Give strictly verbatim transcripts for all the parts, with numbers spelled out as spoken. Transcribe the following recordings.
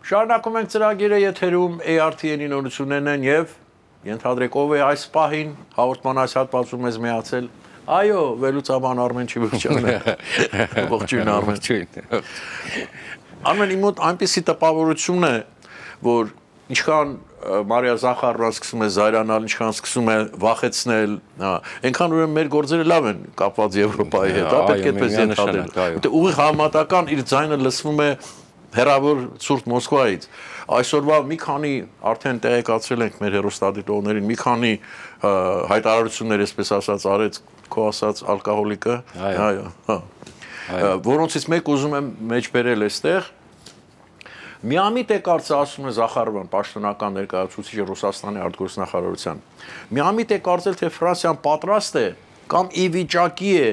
Շարունակում ենք ծրագիրը եթերում A R T N-ի նորություններն են եւ ենթադրեք ով է այս պահին հաղորդման այս հատվածում մեզ միացել։ Այո, վերլուծաբան Արմեն Չիվուկյանն է։ Ողջույն Արմեն։ Արմեն, իմ մոտ այնպիսի տպավորություն է, որ ինչքան Մարիա Զախարովան սկսում է զայրանալ, ինչքան սկսում է վախեցնել, այնքան ուրեմն մեր գործերը լավ են կապված Եվրոպայի հետ, դա պետք է այդպես ենթադրել։ Որտեղ ուղիղ համատական իր ձայնը լսվում է հեռավոր ցուրտ Մոսկվայից։ Այսօրվա մի քանի արդեն տեղեկացրել ենք մեր հեռուստադիտողներին, մի քանի հայտարարություններ, այսպես ասած, արեց քո ասած ալկոհոլիկը, այո, հա։ Որոնցից մեկ ուզում եմ մեջ բերել այստեղ։ Միամիտ է կարծը ասում է Զախարովան, պաշտոնական ներկայացուցիչը Ռուսաստանի արտգործնախարարության։ Միամիտ է կարծել, թե Ֆրանսիան պատրաստ է կամ ի վիճակի է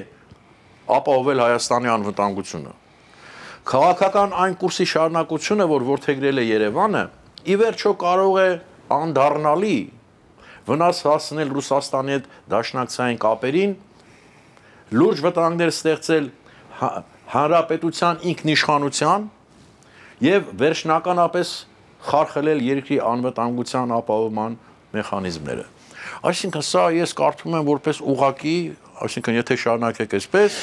ապահովել Հայաստանի անվտանգությունը։ Քաղաքական այն կուրսի շարունակությունը, որ որդեգրել է Երևանը, ի վերջո կարող է անդառնալի վնաս հասցնել Ռուսաստանի հետ դաշնակցային կապերին, լուրջ վտանգներ ստեղծել հանրապետության ինքնիշխանության եւ վերջնականապես խարխլել երկրի անվտանգության ապահովման մեխանիզմները։ Այսինքն սա ես կարծում եմ որպես ուղղակի, այսինքն եթե շարունակեք այսպես,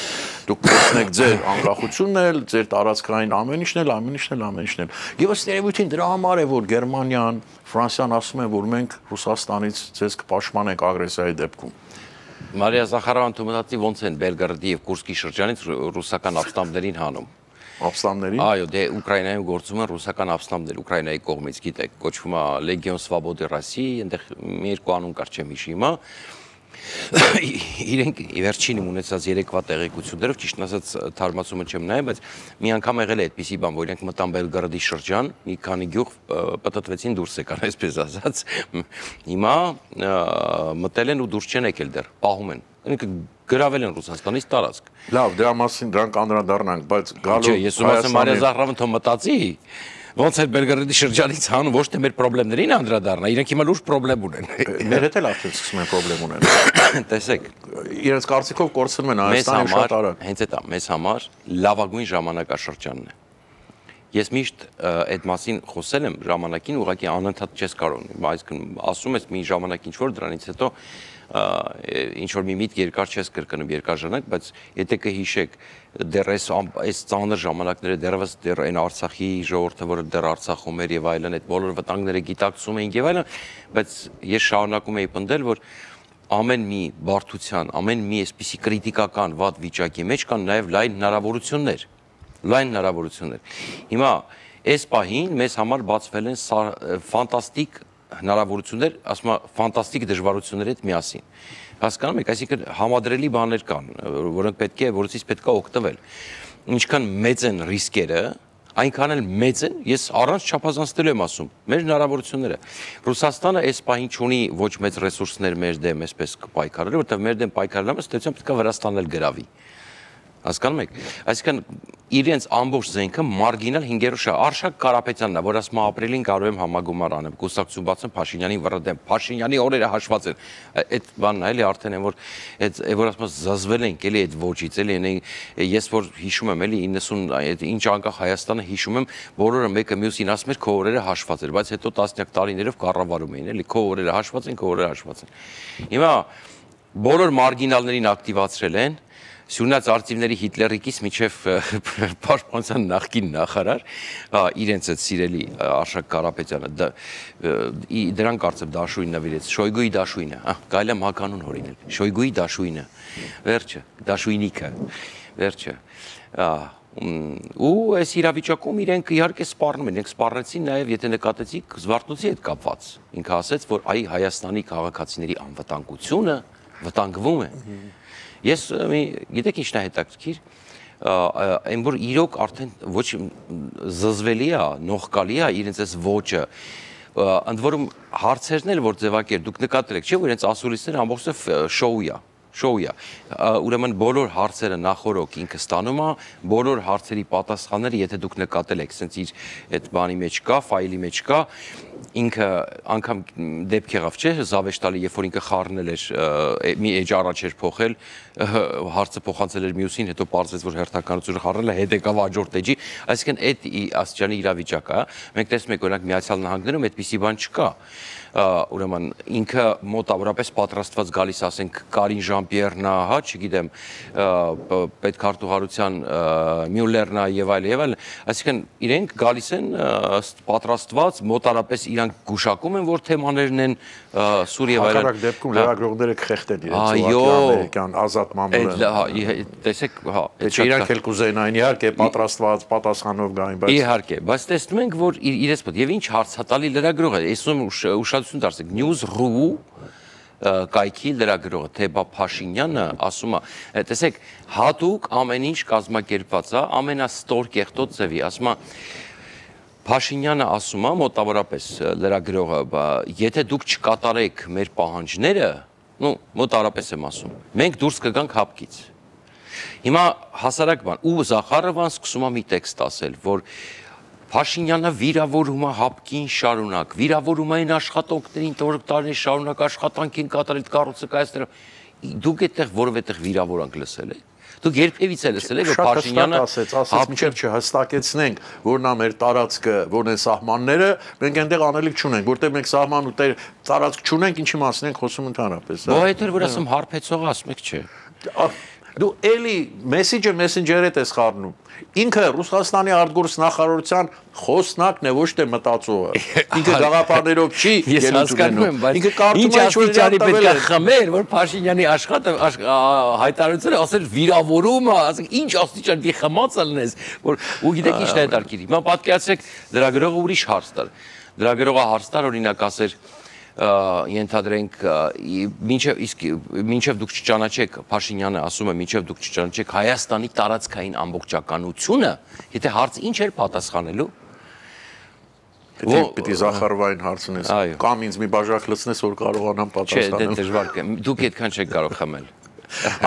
դուք կորցնեք ձեր անկախությունն էլ, ձեր տարածքային ամեն ինչն էլ, ամեն ինչն էլ, ամեն ինչն էլ։ Եվ ըստ երևույթին դրա համար է, որ Գերմանիան, Ֆրանսիան ասում են, որ մենք Ռուսաստանից ձեզ կպաշտպանենք ագրեսիայի դեպքում։ Մարիա Զախարովան թումնացի ոնց են Բելգարդի եւ Կուրսկի շրջանից ռուսական ապստամբներին հանում։ Ապստամբներին։ Այո, դե Ուկրաինայում գործում են ռուսական ապստամբներ Ուկրաինայի կողմից, գիտեք, կոչվում է Լեգիոն Սվաբոդի Ռոսիի, այնտեղ մի երկու անուն կար չեմ հիշի հիմա։ Իրենք վերջին ունեցած երեկվա տեղեկություններով, ճիշտ ասած թարմացումը չեմ նայել, բայց մի անգամ եղել է այդպիսի բան, որ իրենք մտան Բելգարդի շրջան, մի քանի գյուղ պտտվեցին դուրս եկան, այսպես ասած։ Հիմա մտել են ու դուրս չեն եկել դեռ, պահում են։ Ինքը գրավել են Ռուսաստանից տարածք։ Լավ, դրա մասին դրանք անդրադառնանք, բայց գալու ես ում ասեմ Մարիա Զախարովան թող մտածի, ոնց է Բելգարդի շրջանից հանում, ոչ թե մեր խնդիրներին անդրադառնա, իրենք հիմա լուրջ խնդրեմ ունեն։ Մեր հետ էլ արդեն սկսում են խնդրեմ ունենալ։ Տեսեք, իրենց կարծիքով կորցնում են Հայաստանը շատ արագ։ Հենց այդ է, մեզ համար լավագույն ժամանակաշրջանն է։ Ես միշտ այդ մասին խոսել եմ ժամանակին, ուղղակի անընդհատ չես կարող, այսինքն ասում ես մի ժամանակ ինչ որ դրանից հետո ինչ որ մի միտք երկար չես կրկնում երկար ժամանակ, բայց եթե կհիշեք դեռ այս այս ծանր ժամանակները դեռևս դեռ այն Արցախի ժողովուրդը, որը դեռ Արցախում էր եւ այլն, այդ բոլոր վտանգները գիտակցում էին եւ այլն, բայց ես շարունակում էի պնդել, որ ամեն մի բարդության, ամեն մի այսպիսի կրիտիկական վատ վիճակի մեջ կան նաեւ լայն հնարավորություններ, լայն հնարավորություններ։ Հիմա այս պահին մեզ համար բացվել են ֆանտաստիկ հնարավորություններ, ասում եմ, ֆանտաստիկ դժվարությունների հետ միասին։ Հասկանում եք, այսինքն համադրելի բաներ կան, որոնք պետք է, որոնցից պետք է օգտվել։ Ինչքան մեծ են ռիսկերը, այնքան էլ մեծ են, ես առանց չափազանցնելու եմ ասում, մեր հնարավորությունները։ Ռուսաստանը այս պահին չունի ոչ մեծ ռեսուրսներ մեր դեմ, այսպես պայքարելու, որտեղ մեր դեմ պայքարելու ստեցյալ պետք է Վրաստանն էլ գրավի։ Հասկանում եք, այսինքն իրենց ամբողջ զենքը մարգինալ հինգերորդ շա Արշակ Կարապետյանն է, որ ասում է ապրիլին կարող եմ համագումար անեմ, կուսակցություն բացեմ Փաշինյանին վրդեմ, Փաշինյանի օրերը հաշված են։ Այդ բանն է, էլի արդեն են որ այդ որ ասում զզվել ենք, էլի այդ ոչից, էլի ես որ հիշում եմ, էլի իննսուն այդ ինչ անկախ Հայաստանը հիշում եմ, բոլորը մեկը մյուսին ասում էր քո օրերը հաշված էր, բայց հետո տասնյակ տարիներով կառավարում էին, էլի քո օրերը հաշված են, քո օրերը հաշված են։ Հիմա բոլոր մարգինալներին ակտիվացրել են Սյունած արծիվների Հիտլերիկից միջև պաշտպանության նախկին նախարար, իրենց այդ սիրելի Արշակ Կարապետյանը, դրան կարծեմ դաշույն նվիրեց, Շոյգուի դաշույնը, կարելի է մականուն հորինել, Շոյգուի դաշույնը, վերջը, դաշույնիկը, վերջը, ու այս իրավիճակում իրենք իհարկե սպառնում են, իրենք սպառնեցին նաև, եթե նկատեցիք, Զվարթնոցի հետ կապված, ինքը ասեց, որ այ Հայաստանի քաղաքացիների անվտանգությունը վտանգվում է։ Ես գիտեք ինչն է հետաքրքիր, այն որ իրոք արդեն ոչ զզվելի է, նողկալի է իրենց այս ոճը, ընդ որում հարցերն էլ որ ձևակեր, դուք նկատել եք, չէ՞ որ իրենց ասուլիսները ամբողջը շոու է, շոու է, ուրեմն բոլոր հարցերը նախորոք ինքը ստանում է, բոլոր հարցերի պատասխանները, եթե դուք նկատել եք, սենց իր այդ բանի մեջ կա, ֆայլի մեջ կա, ինքը անգամ դեպք եղավ, չէ՞, Զավեշտալի, երբ որ ինքը խառնել էր, մի էջ առաջ էր փոխել, հարցը փոխանցել էր մյուսին, հետո պարզվեց, որ հերթականությունը խառնել է, հետ եկավ հաջորդ էջի, այսինքն այդ աստիճանի իրավիճակ է, մենք տեսնում ենք օրինակ Միացյալ Նահանգներում այդպիսի բան չկա, ուրեմն ինքը մոտավորապես պատրաստված գալիս, ասենք Կարին Ժան-Պիերնա, հա, չգիտեմ, պետքարտուղարության Մյուլլերնա եւ այլ եւ այլ, այսինքն իրենք գալիս են պատրաստված, մոտարապես իրանք գուշակում են, որ թեմաներն են սուր եւ այլն։ Հակառակ դեպքում լրագրողները կխեղդեն իրենց ամերիկյան ազատ մամուլը։ Տեսեք, հա, իրանք էլ կուզենային իհարկե պատրաստված պատասխանով գային, բայց իհարկե, բայց տեսնում ենք, որ իրենց մոտ եւ ինչ հարցատալի լրագրող է, այսօր ուշադրություն դարձեք, News.ru կայքի լրագրողը, թե բա Փաշինյանը ասում է, տեսեք, հատուկ ամեն ինչ կազմակերպված է, ամենաստոր կեղտոտ ձևի, ասում է Փաշինյանը ասում է մոտավորապես լրագրողը, եթե դուք չկատարեք մեր պահանջները, նու մոտավորապես եմ ասում, մենք դուրս կգանք հապկից։ Հիմա հասարակ բան, ու Զախարովան սկսում է մի տեքստ ասել, որ Փաշինյանը վիրավորում է հապկին շարունակ, վիրավորում է այն աշխատողներին, որ տարիներ շարունակ աշխատանքին կատարել կառույցը կայացնել։ Դուք այդտեղ որովհետեւ վիրավորանք լսել եք։ Դուք երբևից էլ լսել եք, որ Փաշինյանը ասեց, ասեց մինչև չհստակեցնենք, որն է մեր տարածքը, որն են սահմանները, մենք այնտեղ անելիք չունենք, որտեղ մենք սահման ու տարածք չունենք, ինչի մասին ենք խոսում ընդհանրապես։ Ոչ այդ էր, որ ասում հարբեցող ասում եք, չէ։ Դու էլի մեսեջը մեսենջերից ես խառնում։ Ինքը Ռուսաստանի արտգործ նախարարության խոսնակն է, ոչ թե մտածողը։ Ինքը գաղափարներով չի ելույթ ունենում։ Ինքը կարծում է, որ պետք է խմեր, որ Փաշինյանի աշխատը հայտարարությունը ասել վիրավորումը, ասենք ինչ աստիճան դի խմած ալնես, որ ու գիտեք ինչ է հետարքիր։ Հիմա պատկերացրեք լրագրողը ուրիշ հարց տար։ Լրագրողը հարց տար օրինակ ասեր ենթադրենք մինչև իսկ մինչև դուք չճանաչեք Փաշինյանը ասում է մինչև դուք չճանաչեք Հայաստանի տարածքային ամբողջականությունը, եթե հարց ինչ էր պատասխանելու։ Պիտի Զախարովային հարցնես, կամ ինձ մի բաժակ լցնես, որ կարողանամ պատասխանել։ Չէ, դե դժվար է։ Դուք այդքան չեք կարող խմել։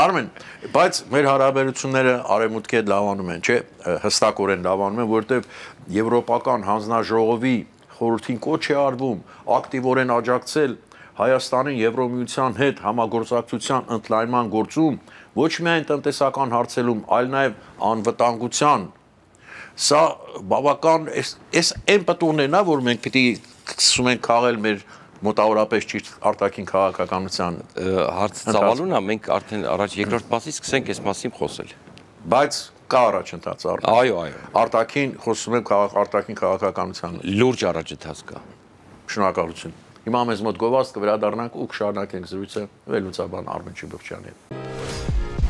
Արմեն, բայց մեր հարաբերությունները արևմուտքի հետ լավանում են, չէ, հստակորեն լավանում են, որովհետև Եվրոպական հանձնաժողովի խորհրդին կոչ է արվում ակտիվորեն աջակցել Հայաստանի Եվրոմիության հետ համագործակցության ընդլայնման գործում ոչ միայն տնտեսական հարցերում, այլ նաև անվտանգության։ Սա բավական էս այն պատուհանն է, որ մենք պիտի սկսում ենք քաղել մեր մոտավորապես ճիշտ արտաքին քաղաքականության հարց ծավալուն է, մենք արդեն առաջ երկրորդ մասից սկսենք այս մասին խոսել։ Բայց կա առաջընթաց արդեն։ Այո, այո։ Արտաքին խոսում ենք արտաքին քաղաքականության։ Լուրջ առաջընթաց կա։ Շնորհակալություն։ Հիմա մեզ մոտ գովազդ կվերադառնանք ու կշարունակենք զրույցը վերլուծաբան Արմեն Չիբորջյանի հետ։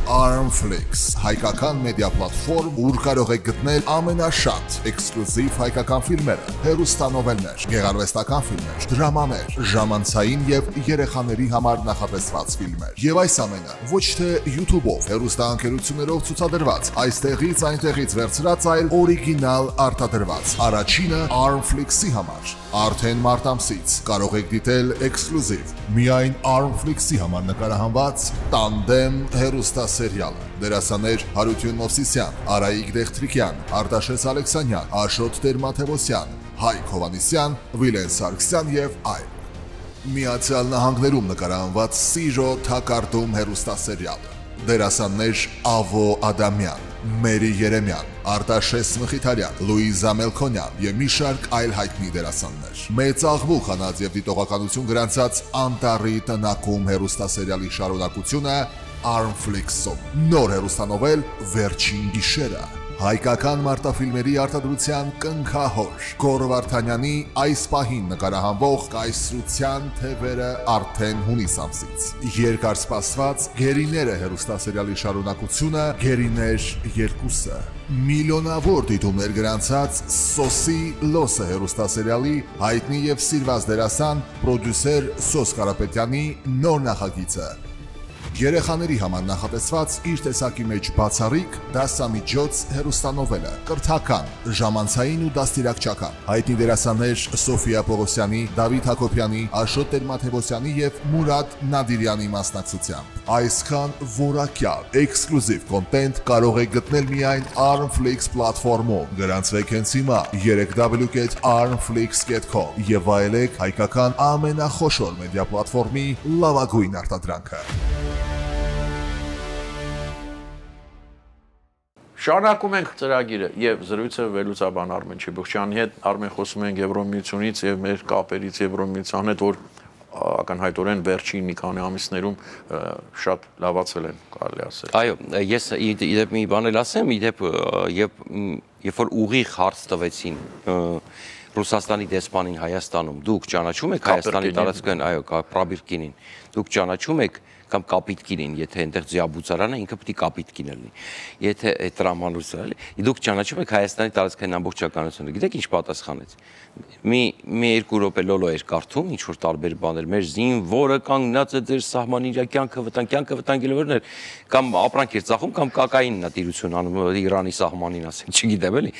Armflix, հայկական մեդիա պլատֆորմ, ուր կարող եք գտնել ամենաշատ էքսկլյուզիվ հայկական ֆիլմերը, հեռուստանովելներ, գեղարվեստական ֆիլմեր, դրամաներ, ժամանցային եւ երեխաների համար նախատեսված ֆիլմեր։ Եվ այս ամենը ոչ թե YouTube-ով, հեռուստաընկերություններով ցուցադրված, այստեղից այնտեղից վերցրած այլ օրիգինալ արտադրված։ Առաջինը Armflix-ի համար։ Արդեն մարտ ամսից կարող եք դիտել էքսկլյուզիվ միայն Armflix-ի համար նկարահանված Տանդեմ հեռուստասերիալը։ Դերասաններ Հարություն Մովսիսյան, Արայիկ Դեղտրիկյան, Արտաշես Ալեքսանյան, Աշոտ Տեր-Մաթևոսյան, Հայկ Հովանիսյան, Վիլեն Սարգսյան եւ այլ։ Միացյալ Նահանգներում նկարահանված Սիրո թակարդում հեռուստասերիալը։ Դերասաններ Ավո Ադամյան, Մերի Երեմյան, Արտաշես Մխիթարյան, Լուիզա Մելքոնյան եւ մի շարք այլ հայտնի դերասաններ։ Մեծ աղբուկ հանած եւ դիտողականություն գրանցած Անտարի տնակում հեռուստասերիալի շարունակությունը Armflix-ում։ Նոր հեռուստանովել Վերջին գիշերը։ Հայկական մարտաֆիլմերի արտադրության կնքահոր Գոռ Վարդանյանի այս պահին նկարահանվող Կայսրության թևերը արդեն հունիս ամսից։ Երկար սպասված Գերիները հեռուստասերիալի շարունակությունը Գերիներ երկուսը։ Միլիոնավոր դիտումներ գրանցած Սոսի Լոսը հեռուստասերիալի հայտնի եւ սիրված դերասան պրոդյուսեր Սոս Կարապետյանի նոր նախագիծը։ Երեխաների համար նախատեսված իր տեսակի մեջ բացառիկ դասամիջոց հեռուստանովելը, կրթական, ժամանցային ու դաստիարակչական։ Հայտնի դերասաններ Սոֆիա Պողոսյանի, Դավիթ Հակոբյանի, Աշոտ Տեր-Մաթևոսյանի եւ Մուրադ Նադիրյանի մասնակցությամբ։ Այսքան որակյալ էքսկլյուզիվ կոնտենտ կարող եք գտնել միայն Armflix պլատֆորմում։ Գրանցվեք հենց հիմա three w dot armflix dot com եւ վայելեք հայկական ամենախոշոր մեդիա պլատֆորմի լավագույն արտադրանքը։ Շարունակում ենք ծրագիրը եւ զրույցը վերլուծաբան Արմեն Չիբուխչյանի հետ։ Արմեն, խոսում ենք Եվրոմիությունից եւ մեր կապերից Եվրոմիության հետ, որ ակնհայտորեն վերջին մի քանի ամիսներում շատ լավացել են, կարելի ասել։ Այո, ես իդեպ մի բան էլ ասեմ, իդեպ եւ երբ որ ուղիղ հարց տվեցին Ռուսաստանի դեսպանին Հայաստանում, դուք ճանաչում եք Հայաստանի տարածքային, այո, Պրաբիրկինին, դուք ճանաչում եք կամ կապիտկինին, եթե այնտեղ ձիաբուծարանը ինքը պետք է կապիտկին լինի։ Եթե այդ տրամանուսը, դուք ճանաչում եք Հայաստանի տարածքային ամբողջականությունը, գիտեք ինչ պատասխանեց։ Մի մի երկու րոպե լոլո էր կարդում, ինչ որ տարբեր բաներ, մեր զինվորը կանգնած է ձեր սահմանին, իր կյանքը վտանգ, կյանքը վտանգելիվերներ, կամ ապրանք էր ծախում, կամ կակայինն է տիրություն անում Իրանի սահմանին, ասենք, չգիտեմ էլի,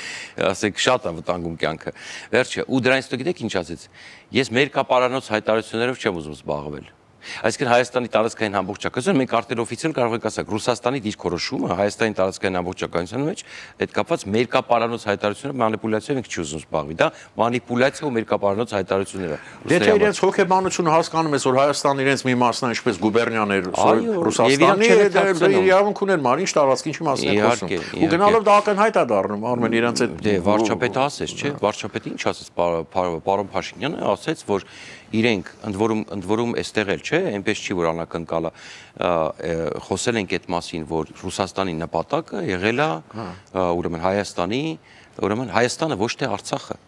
ասենք շատ է վտանգում կյանքը։ Վերջը, ու դրանից հետո գիտեք ինչ ասեց։ Ես մերկապարանոց հայտարարություններով չեմ ուզում զբաղվել։ Այսինքն Հայաստանի տարածքային ամբողջականությունը մենք արտել օֆիցիալ կարող ենք ասել Ռուսաստանի դիրքորոշումը Հայաստանի տարածքային ամբողջականության մեջ այդ կապված մերկապարանոց հայտարարությունները մանիպուլյացիայով ենք չի ուզում զբաղվի, դա մանիպուլյացիա ու մերկապարանոց հայտարարությունները։ Եթե իրենց հոգեբանությունը հասկանում ես, որ Հայաստանը իրենց մի մասն է, ինչպես գուբերնիան էր Ռուսաստանի, իրավունք ուներ, ման ինչ տարածք, ինչի մասն է խոսում։ Ու գնալով դա ակնհայտ է դառնում, Արմեն, իրենց այդ դե վարչապետը ասեց, չէ՞, վարչապետը ինչ ասեց, պարոն Փաշինյանը ասեց, որ իրենք ընդ որում ընդ որում այստեղ էլ չէ, այնպես չի որ անակնկալը խոսել ենք այդ մասին, որ Ռուսաստանի նպատակը եղել է ուրեմն Հայաստանի, ուրեմն Հայաստանը ոչ թե Արցախը։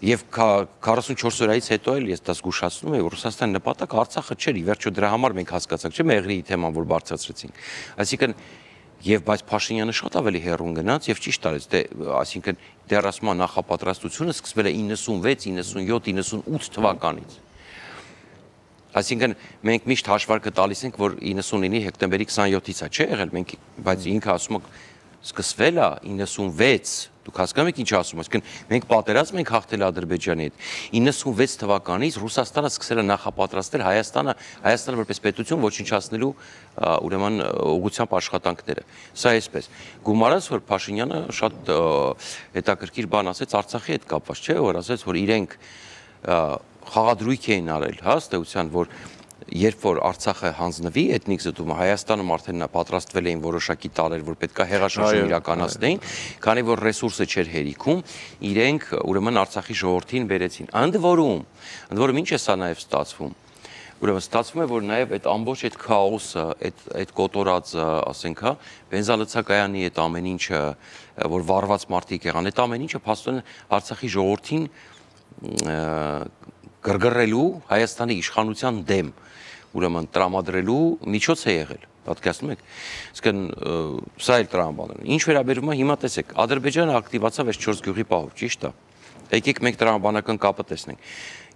Եվ քառասունչորս օրից հետո էլ ես դա զգուշացնում եմ, Ռուսաստանի նպատակը Արցախը չէր, ի վերջո դրա համար մենք հասկացանք, չէ՞, Մեղրիի թեման որ բարձրացրեցինք։ Այսինքն Եվ բայց Փաշինյանը շատ ավելի հեռուն գնաց եւ ճիշտ արեց, դե այսինքն դեռ ասում եմ նախապատրաստությունը սկսվել է իննսունվեց, իննսունյոթ, իննսունութ թվականից։ Այսինքն մենք միշտ հաշվարկը տալիս ենք, որ իննսունինի հոկտեմբերի քսանյոթից է, չէ՞ եղել, մենք բայց ինքը ասում է սկսվել է իննսունվեց, դուք հասկանում եք ինչ ասում, այսինքն մենք պատերազմ ենք հաղթել Ադրբեջանի հետ։ իննսունվեց թվականից Ռուսաստանը սկսել է նախապատրաստել Հայաստանը, Հայաստանը որպես պետություն ոչնչացնելու ուրեմն ուղղությամբ աշխատանքները։ Սա այսպես։ Գումարած որ Փաշինյանը շատ հետաքրքիր բան ասեց Արցախի հետ կապված, չէ՞, որ ասեց, որ իրենք խաղադրույք էին արել, հա, ըստեյության, որ երբ որ Արցախը հանձնվի էթնիկ զտումը, Հայաստանում արդեն պատրաստվել էին որոշակի տարեր, որ պետքա հեղաշրջում իրականացնեին, քանի որ ռեսուրսը չէր հերիքում, իրենք ուրեմն Արցախի ժողովրդին բերեցին։ Ընդ որում, ընդ որում ինչ է սա նաև ստացվում։ Ուրեմն ստացվում է, որ նաև այդ ամբողջ այդ քաոսը, այդ այդ կոտորած, ասենք, հա, բենզալցակայանի այդ ամեն ինչը, որ վառված մարդիկ եղան, այդ ամեն ինչը փաստորեն Արցախի ժողովրդին գրգռելու Հայաստանի իշխանության դեմ ուրեմն տրամադրելու միջոց է եղել, պատկերացնում եք, այսինքն սա էլ տրամաբանել։ Ինչ վերաբերում է հիմա տեսեք, Ադրբեջանը ակտիվացավ այս չորս գյուղի պահով, ճիշտ է։ Եկեք մենք տրամաբանական կապը տեսնենք։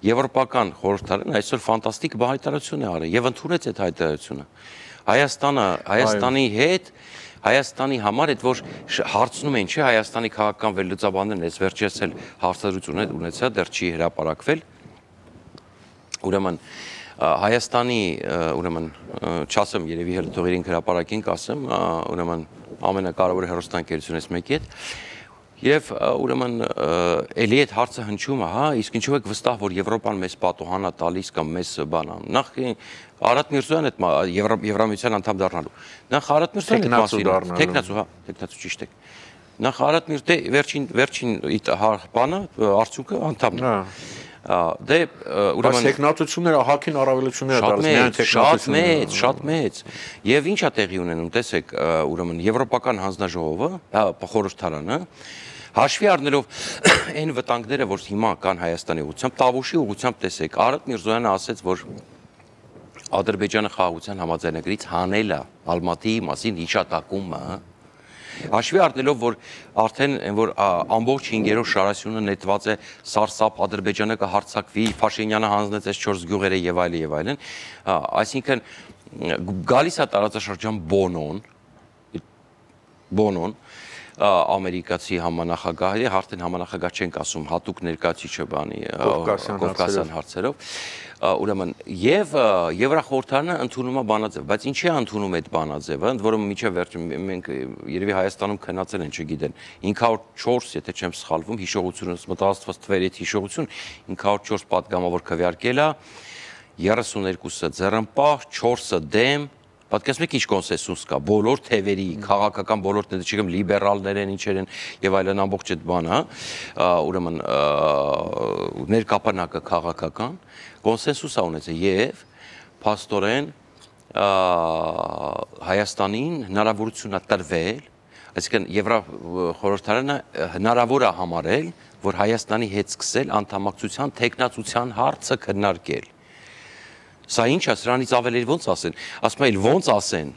Եվրոպական խորհրդարանը այսօր ֆանտաստիկ հայտարարություն է արել եւ ընդունեց այդ հայտարարությունը։ Հայաստանը, Հայաստանի հետ Հայաստանի համար այդ որ հարցնում են, չէ, Հայաստանի քաղաքական վերլուծաբաններն այս վերջերս էլ հարցադրություն ունեցա, դեռ չի հրապարակվել։ Ուրեմն Հայաստանի ուրեմն չասեմ երևի հերթողերին հրապարակին կասեմ, ուրեմն ամենակարևոր հեռուստաընկերությունից մեկի հետ եւ ուրեմն էլի այդ հարցը հնչում է, հա, իսկ ինչու եք վստահ, որ Եվրոպան մեզ պատոհան է տալիս կամ մեզ բան ա։ Նախ Արարատ Միրզոյանը այդ Եվրամիության անդամ դառնալու։ Նախ Արարատ Միրզոյանը այդ մասին, տեխնացու, հա, տեխնացու ճիշտ է։ Նախ Արարատ Միրզոյը վերջին վերջին բանը արդյունքը անդամն է։ Դե ուրեմն տեխնատությունները հակին առավելություններ դարձ միայն տեխնատությունները շատ մեծ, շատ մեծ։ Եվ ինչ է տեղի ունենում, տեսեք, ուրեմն Եվրոպական հանձնաժողովը, խորհրդարանը հաշվի առնելով այն վտանգները, որ հիմա կան Հայաստանի ուղղությամբ, Տավուշի ուղղությամբ տեսեք, Արարատ Միրզոյանը ասեց, որ Ադրբեջանը խաղաղության համաձայնագրից հանել է Ալմատիի մասին հիշատակումը, հաշվի առնելով, որ արդեն որ ամբողջ հինգերորդ շարասյունը նետված է սարսափ, Ադրբեջանը կհարձակվի, Փաշինյանը հանձնեց այս չորս գյուղերը եւ այլն եւ այլն, այսինքն գալիս է տարածաշրջան Բոնոն, Բոնոն, ամերիկացի համանախագահ, արդեն համանախագահ չենք ասում, հատուկ ներկայացիչը բանի Կովկասյան հարցերով, ուրեմն եւ Եվրախորհրդարանը ընդունում է բանաձև, բայց ինչի է ընդունում այդ բանաձևը, ընդ որում միջև վերջը մենք երևի Հայաստանում քննածել են, չգիտեն, ինը հարյուր չորս, եթե չեմ սխալվում, հիշողությունս մտածված թվերի հետ հիշողություն, ինը հարյուր չորս պատգամավոր քվեարկել է, երեսուներկուսը ձեռնպահ, չորսը դեմ, պատկերացնում եք ինչ կոնսենսուս կա, բոլոր թևերի, քաղաքական բոլոր թևերի, չգիտեմ, լիբերալներ են, ինչեր են եւ այլն ամբողջ այդ բանը, ուրեմն ներկապանակը քաղաքական կոնսենսուս ա ունեցել եւ փաստորեն Հայաստանին հնարավորություն ա տրվել, այսինքն Եվրախորհրդարանը հնարավոր ա համարել, որ Հայաստանի հետ սկսել անդամակցության տեխնացության հարցը քննարկել։ Սա ինչ է, սրանից ավելի ոնց ասեն, ասում են ոնց ասեն,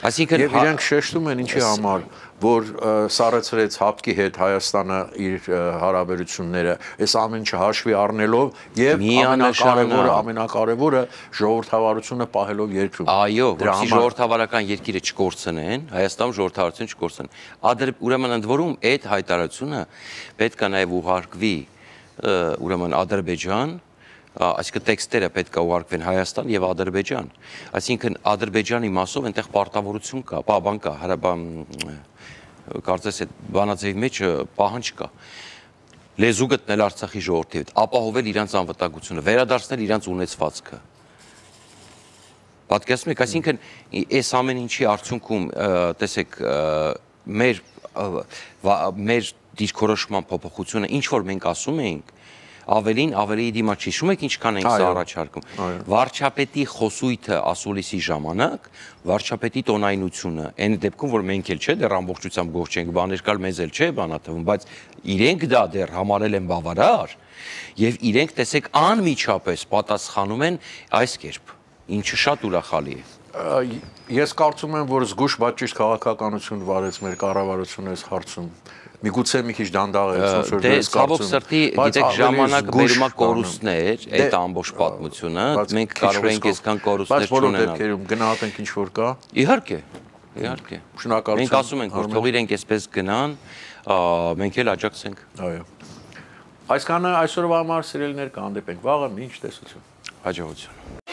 այսինքն եւ իրենք շեշտում են ինչի համար, որ սառեցրեց հապկի հետ Հայաստանը իր հարաբերությունները, այս ամեն ինչը հաշվի առնելով եւ ամենակարևորը, ամենակարևորը ժողովրդավարությունը պահելով երկրում։ Այո, որպեսզի ժողովրդավարական երկիրը չկորցնեն, Հայաստանում ժողովրդավարությունը չկորցնեն։ Ուրեմն ընդ որում այդ հայտարարությունը պետք է նաեւ ուղարկվի ուրեմն Ադրբեջան, այսինքն տեքստերը պետք է ուղարկվեն Հայաստան եւ Ադրբեջան, այսինքն Ադրբեջանի մասով այնտեղ պարտավորություն կա, բան կա, հարաբան կարծես այդ բանաձևի մեջ պահանջ կա, լեզու գտնել Արցախի ժողովրդի հետ, ապահովել իրանց անվտանգությունը, վերադարձնել իրանց ունեցվածքը։ Պատկերացնում եք, այսինքն այս ամեն ինչի արդյունքում տեսեք մեր մեր դիրքորոշման փոփոխությունը, ինչ որ մենք ասում էինք, ավելին ավելի դիմաց չի, շում եք ինչքան ենք սա առաջարկում, վարչապետի խոսույթը ասուլիսի ժամանակ, վարչապետի տոնայնությունը, այն դեպքում, որ մենք էլ չէ, դեռ ամբողջությամբ գող չենք, բաներ կալ մեզ էլ չէ բանաթվում, բայց իրենք դա դեռ համարել են բավարար եւ իրենք տեսեք անմիջապես պատասխանում են այս կերպ, ինչը շատ ուրախալի է։ Ես կարծում եմ, որ զգուշ, բայց ճիշտ քաղաքականություն վարեց մեր կառավարությունը այս հարցում։ Միգուցե մի քիչ դանդաղ է, ոնց որ ես կարծում եմ։ Ցավոք սրտի, գիտեք, ժամանակը բերում է կորուստներ, այդ ամբողջ պատմությունը, մենք կարող ենք այսքան կորուստներ չունենալ։ Բայց բոլոր դեպքերում գնահատենք ինչ որ կա։ Իհարկե, իհարկե։ Շնորհակալություն։ Մենք ասում ենք, որ թող իրենք այսպես գնան, մենք էլ աջակցենք։ Այո։ Այսքանը այսօրվա համար սիրելիներ կհանդիպենք վաղը, մինչ տեսություն։ Հաջողություն։